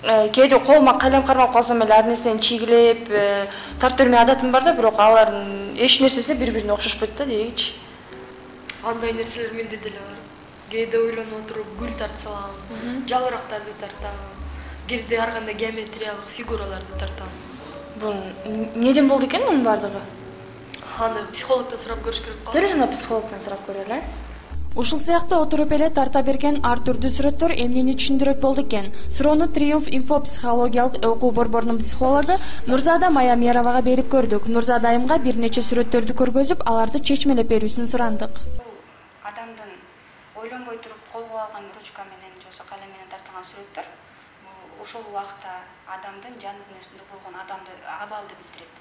кээде колума калем кармап калсам эле ар нерсени чийгилеп тартып бермей адатым бар да, бирок алардын эч нерсеси бири-бирине окшошпойт да дегичи. Андай нерселер менде деле бар. Кээде ойлонуп отуруп гүл тартсам, жалбырактарды тартам, кээде ар кандай геометриялык фигураларды тартам. Бул эмнеден болду экен мунун бардыгы? Аны психологдон сурап көрүш керек го. Бересиң, психологдон сурап көрөлү. Ушул сыяктуу отуруп эле тарта берген ар түрдүү сүрөттөр эмнени түшүндүрөт болду экен? Суроону Триумф Инфо психологиялык окуу борборунун психологу Нурзада Маямеровага берип көрдүк. Нурзада айымга бир нече сүрөттөрдү көргөзүп, аларды чечмелеп берүүсүн сурандык. Адамдын ойлонбой туруп колго алган ручка менен же калем менен тартылган сүрөттөр бул ошол убакта адамдын жан дүйнөсүндө болгон абалды билдирет.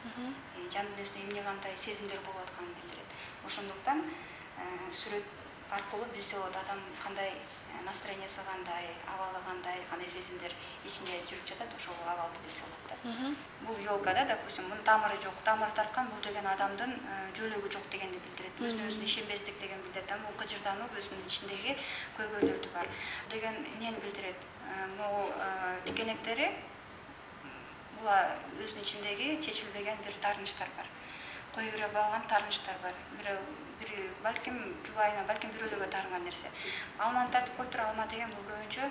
Жан дүйнөсүндө эмне кандай сезимдер болуп атканын билдирет. Ошондуктан сүрөт аркылуу билсе болот адам кандай настроениясы кандай, абалы кандай сезимдер ичинде жүрүп жатат, ошол абалды билсе болот да. Бул ёлкада, допустим, мунун тамыры жок, тамыр тарткан бул деген адамдын жөлөгү жок дегенди билдирет. Өзүнө өзү ишенбестик деген билдирет. Бул кыжырдануу өзүнүн ичиндеги көйгөйлөрдү бар. Деген эмнени билдирет? Могу тикенектери бул өзүнүн ичиндеги чечилбеген бир таарынычтар бар. Кое бере албаган таарынычтар бар. Бири балким жубайына, балким бирөөлөргө таарынган нерсе. Алманы тартып коюп туруп, алма деген бул көбүнчө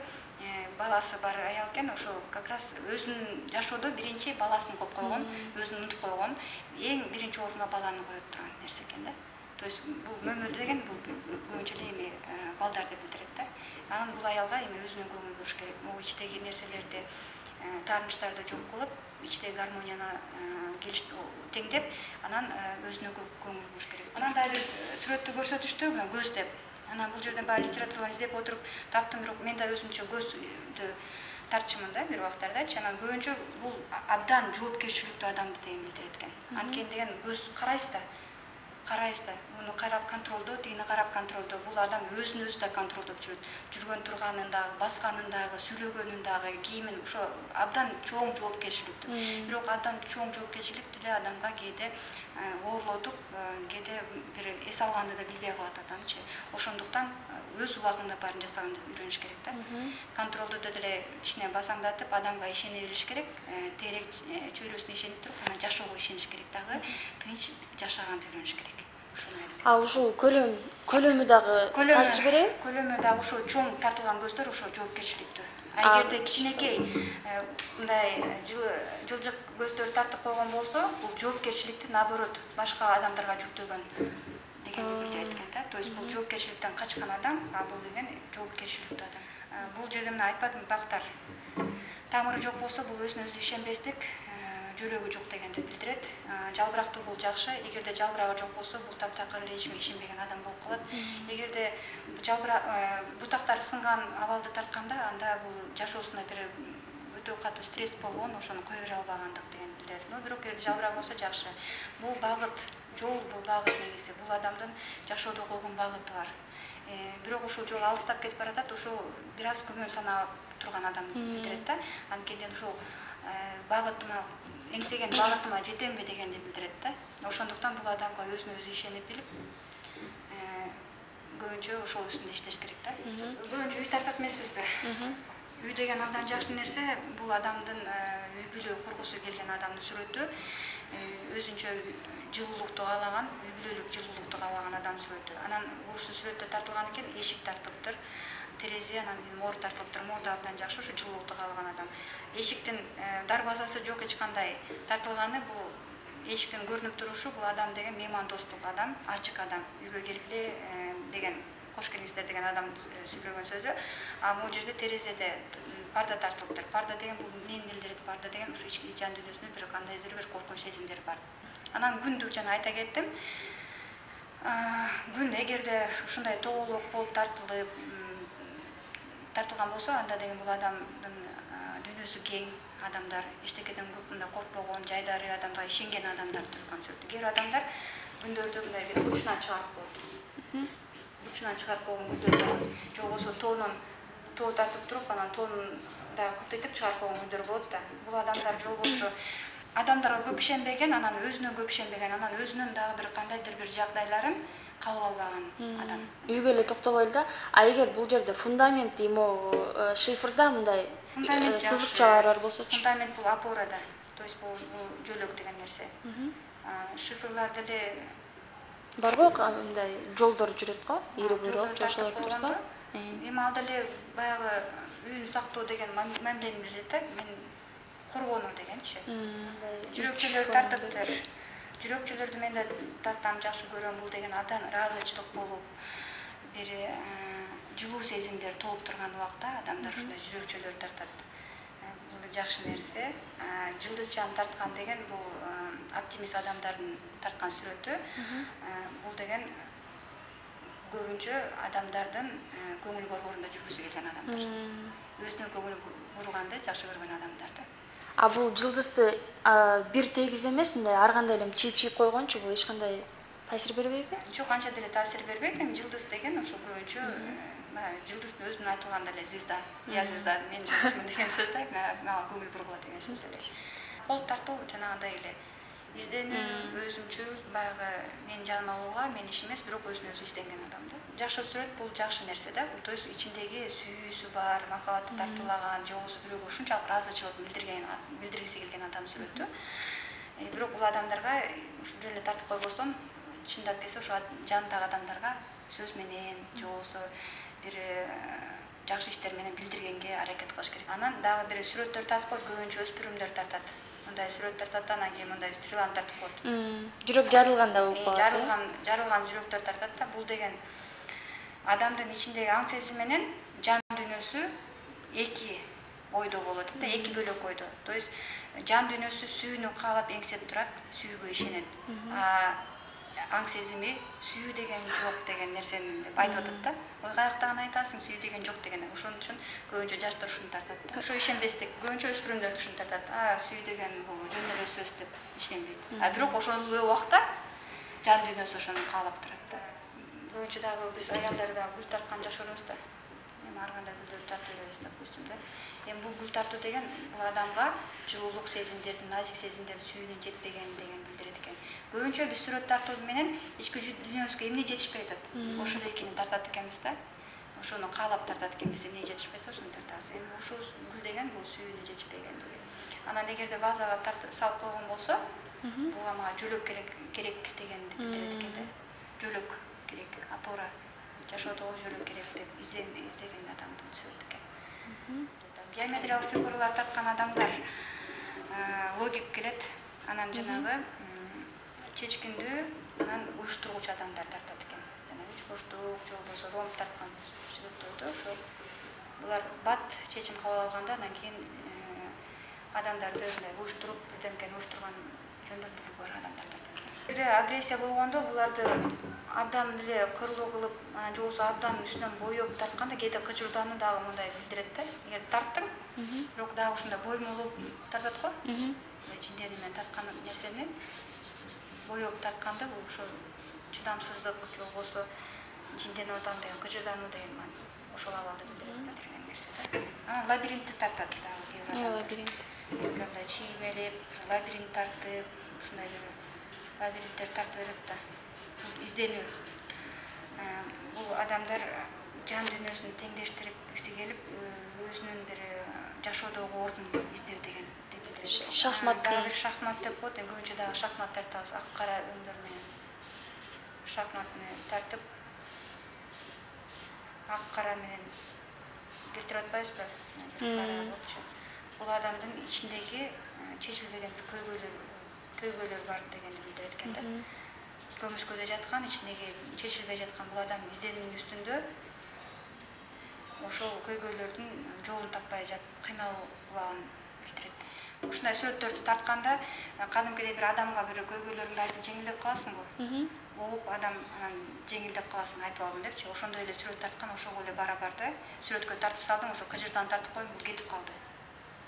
баласы бар аял экен, ошол как раз өзүнүн жашоодо биринчи баласын коюп койгон, өзүн унутуп койгон, эң биринчи орунга баланы коюп турган нерсе экен да. То есть бул мөмө деген бул көбүнчө эле эми балдарды билдирет да. Анан бул аялга эми өзүнө көңүл буруш керек. Могу ичтеги нерселерди, таарынычтарды жок кылып, ичтеги гармонияны теңдеп, анан өзүнө көңүл буруш керек. Анан дагы бир сүрөттү көрсөтүштү, мына көз деп. Анан бул жерден баягы литератураны издеп отуруп таптым, бирок мен да өзүмчө көздү тартчумун да бир убактардачы. Анан көбүнчө бул абдан жоопкерчиликтүү адамды деген билдирет экен. Анткени деген көз карайсыз да, муну карап контролдоо, тигини карап контролдоо. Бул адам өзүн өзү да контролдоп жүрөт. Жүргөн турганын дагы, басканын дагы, сүйлөгөнүн дагы, кийимин ошо абдан чоң жоопкерчиликтүү. Бирок абдан чоң жоопкерчилик деле адамга кээде оорлотуп, кээде бир эс алганды да билбей калат адамчы. Ошондуктан өз убагында баарын жасаганды үйрөнүш керек да. Контролдоодо деле ичине басаңдатып, адамга ишене билиш керек. Тегерек чөйрөсүнө ишенип туруп, анан жашоого ишениш керек дагы. Тынч жашаганды үйрөнүш керек. Ушул көлөмү дагы таасир береби? Көлөмү дагы ошо чоң тартылган көздөр ошо жоопкерчиликтүү. Эгерде кичинекей мындай жылжык көздөр тартып койгон болсо, бул жоопкерчиликти наоборот башка адамдарга жүктөгөн дегенди билдирет экен да. То есть бул жоопкерчиликтен качкан адам, а бул деген жоопкерчиликтүү адам. Бул жерде мына айтпадым, бактар. Тамыры жок болсо, бул өзүнө өзү ишенбестик, жөлөгү жок дегенди билдирет. Жалбырактуу бул жакшы. Эгерде жалбырагы жок болсо, бул таптакыр эле эчиме ишенбеген адам болуп калат. Эгерде бутактары сынган абалды тартканда, анда бул жашоосунда бир өтө катуу стресс болгон, ошону кое бере албагандык деген билдирет. Бирок эгерде жалбырак болсо жакшы. Бул багыт, жол бул багыт негизи. Бул адамдын жашоодо койгон багыты бар. Бирок ушул жол алыстап кетип баратат, ошол бир аз күмөн санап турган адамды билдирет да. Анткени ушул багытыма эңсеген багытыма жетемби дегенди билдирет да. Ошондуктан бул адамга өзүнө өзү ишенип билип, көбүнчө ошол үстүндө иштеш керек да. Көбүнчө үй тартат эмеспизби? Үй деген абдан жакшы нерсе. Бул адамдын үй бүлө кургусу келген адамдын сүрөтү. Өзүнчө жылуулукту каалаган, үй бүлөлүк жылуулукту каалаган адам сүрөтү. Анан ушул сүрөттө тартылган экен, эшик тартылыптыр, терезе, анан мор тартылыптыр. Мор да абдан жакшы, ушу жылуулукту каалаган адам. Эшиктин дарбазасы жок эч кандай тартылганы, бул эшиктин көрүнүп турушу, бул адам деген меймандостук адам, ачык адам, үйгө келгиле деген, кош келиңиздер деген адам сүйлөгөн сөзү. А бул жерде терезеде парда тартылыптыр. Парда деген бул эмнени билдирет? Парда деген ушу ички жан дүйнөсүндө бир кандайдыр бир коркунуч сезимдер бар. Анан күндү жана айта кеттим. Күн эгерде ушундай тоголок болуп тартылган болсо, анда деген бул адамдын дүйнөсү кең адамдар, эчтекеден көп мындай коркпогон, жайдары адамга ишенген адамдар турган сөзү. Кээ бир адамдар күндөрдө мындай бир бурчунан чыгарып коет. Бурчунан чыгарып койгон күндөр бар. Же болбосо тоо тартып туруп, анан тоонун дагы кылтыйтып чыгарып койгон күндөр болот да. Бул адамдар же болбосо адамдарга көп ишенбеген, анан өзүнө көп ишенбеген, анан өзүнүн дагы бир кандайдыр бир жагдайларын кабыл албаган адам. Үйгө эле токтолойлу да. А эгер бул жерде фундамент шифрда мындай сызыкчалар бар болсочу? Фундамент бул опорада. То есть бул жөлөк деген нерсе. Шифрлар деле Барбы мындай жолдор жүрөт го? Ири буйрук жошолор турса. Эми ал деле баягы үйүн сактоо деген мамилени билдирет да. Мен коргонуу дегенчи. Жүрөкчөлөр тартыптыр. Жүрөкчөлөрдү мен да тартам, жакшы көрөм. Бул деген абдан ыраазычылык болуп, бир жылуу сезимдер толуп турган убакта адамдар ушундай жүрөкчөлөр тартат. Бул жакшы нерсе. Жылдызчаны тарткан деген бул оптимист адамдардын тарткан сүрөтү. Бул деген көбүнчө адамдардын көңүл борборунда жүргүсү келген адамдар. Өзүнө көңүл бурганды жакшы көргөн адамдар да. А бул жылдызды бир тегиз эмес, мындай ар кандай эле чийип койгончу бул эч кандай таасир бербейби? Жок, анча деле таасир бербейт. Эми жылдыз деген ошо көбүнчө жылдыздын өзүнүн айтылганда эле звезда, я звезда, мен жылдызмын деген сөз да, мага көңүл бургула деген сөз эле. Кол тартуу жанагындай эле изденүү, өзүмчүл, баягы мен жаныма алууга, мен иш эмес, бирок өзүнө өзү изденген адам да. Жакшы сүрөт бул жакшы нерсе да. То есть ичиндеги сүйүүсү бар, махабатты тартуулаган, же болбосо бирөөгө ушунчалык ыраазычылык билдиргиси келген адам сүрөтү. Бирок бул адамдарга ушу жөн эле тартып койбостон, чындап келсе ошо жанындагы адамдарга сөз менен, же болбосо бир жакшы иштер менен билдиргенге аракет кылыш керек. Анан дагы бир сүрөттөр тартып коет, көбүнчө өспүрүмдөр тартат. Мындай сүрөт тартат, анан кийин мындай стреланы тартып коет. Жүрөк жарылганда болуп калат. Жарылган жүрөктөр тартат да. Бул деген адамдын ичиндеги аң сезим менен жан дүйнөсү эки ойдо болот да, эки бөлөк ойдо. То есть жан дүйнөсү сүйүүнү каалап эңсеп турат, сүйүүгө ишенет. Аң сезими сүйүү деген жок деген нерсени деп айтып атат да. Ой, каяктан айтасың, сүйүү деген жок деген. Ошон үчүн көбүнчө жаштар ушуну тартат да. Ошо ишенбестик, көбүнчө өспүрүмдөр ушуну тартат. Сүйүү деген бул жөн эле сөз деп ишенбейт. Бирок ошол убакта жан дүйнөсү ошону каалап турат да. Көбүнчө дагы биз аялдар да гүл тарткан жашырбыз да. Эми ар кандай гүлдөрдү тартып беребиз, допустим да. Эми бул гүл тартуу деген бул адамга жылуулук сезимдердин, назик сезимдердин сүйүүнүн жетпегени деген билдирет экен. Көбүнчө биз сүрөт тартуу менен ички дүйнөбүзгө эмне жетишпей атат. Ошол экини тартат экенбиз да. Ошону каалап тартат экенбиз, эмне жетишпесе ошону тартабыз. Эми ушул гүл деген бул сүйүүнүн жетишпеген деген. Анан эгерде базага салып койгон болсо, буга мага жөлөк керек дегенди билдирет экен да. Жөлөк керек, опора, жашоодогу жөлөк керек деп издеген адамдын сөзү экен. Геометриялык фигуралар тарткан адамдар логик келет, анан жанагы чечкиндүү, анан уюштургуч адамдар тартат экен. Жана үчбурчтук, же болбосо ромб тарткан сүрөттөрдө ошо булар бат чечим кабыл алганда, анан кийин адамдарды мындай уюштуруп, бирдемкени уюштурган жөндөмдүүлүгү бар адамдар тартат. Эгерде агрессия болгондо буларды абдан эле кырлуу кылып, же болбосо абдан үстүнөн боёп тартканда кээде кыжырдануу дагы мындай билдирет да. Эгер тарттың, бирок дагы ушундай боймолуп тартат го. Жиндери менен тарткан нерсени боёп тартканда бул ошо чыдамсыздык, же болбосо жинденип атам деген кыжырдануу деген ошол абалды билдирет да, деген нерсе да. Анан лабиринтти тартат дагы. Лабиринт. Мындай чиймелеп, лабиринт тартып, ушундай бир лабиринттер тартып берет да. Изденүү. Бул адамдар жан дүйнөсүн теңдештиргиси келип, өзүнүн бир жашоодогу ордун издөө деген деп билдирет. Шахмат. Дагы бир шахмат деп коет, көбүнчө дагы шахмат тартабыз, ак кара өңдөр менен. Шахмат менен тартып, ак кара менен келтирип атпайбызбы? Бул адамдын ичиндеги чечилбеген көйгөйлөр бар дегенди билдирет экен да. Көмүскөдө жаткан, ичиндеги чечилбей жаткан бул адамдын изденүүнүн үстүндө ошол көйгөйлөрдүн жолун таппай кыйналганын билдирет. Ушундай сүрөттөрдү тартканда кадимкидей бир адамга бир көйгөйлөрүңдү айтып жеңилдеп каласың го. Болуп адам анан жеңилдеп каласың, айтып алдым депчи. Ошондой эле сүрөт тарткан, ошого эле барабар да. Сүрөткө тартып салдың, ошо кыжырдан тартып коюп, бул кетип калды.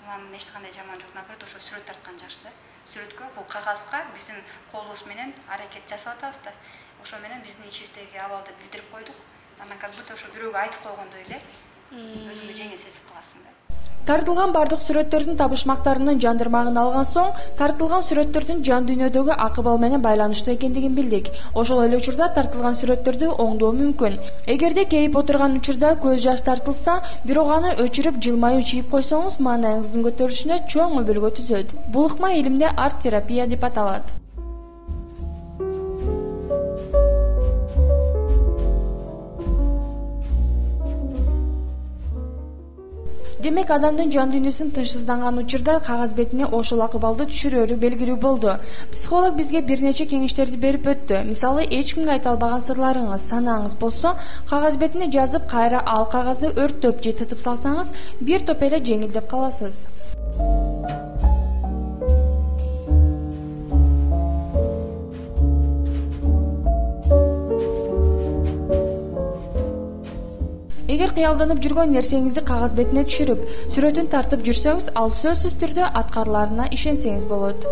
Анын эч кандай жаман жок, наоборот, ошо сүрөт тарткан жакшы да. Сүрөткө бул кагазга биздин колубуз менен аракет жасап атабыз да. Ошо менен биздин ичибиздеги абалды билдирип койдук. Анан как будто ошо бирөөгө айтып койгондой эле өзүңдү жеңил сезип каласың да. Тартылган бардык сүрөттөрдүн табышмактарынын жандырмагын алган соң, тартылган сүрөттөрдүн жан дүйнөдөгү акыбал менен байланыштуу экендигин билдик. Ошол эле учурда тартылган сүрөттөрдү оңдоо мүмкүн. Эгерде кейип отурган учурда көз жаш тартылса, бирок аны өчүрүп жылмаюу чийип койсоңуз, маанайыңыздын көтөрүлүшүнө чоң өбөлгө түзөт. Бул ыкма илимде арт-терапия деп аталат. Демек, адамдын жан дүйнөсүн тынчсызданган учурда кагаз бетине ошол акыбалды түшүрөөрү белгилүү болду. Психолог бизге бир нече кеңештерди берип өттү. Мисалы, эч кимге айта албаган сырларыңыз, санаңыз болсо, кагаз бетине жазып, кайра ал кагазды өрттөп же тытып салсаңыз, бир топ эле жеңилдеп каласыз. Эгер кыялданып жүргөн нерсеңизди кагаз бетине түшүрүп, сүрөтүн тартып жүрсөңүз, ал сөзсүз түрдө аткарыларына ишенсеңиз болот.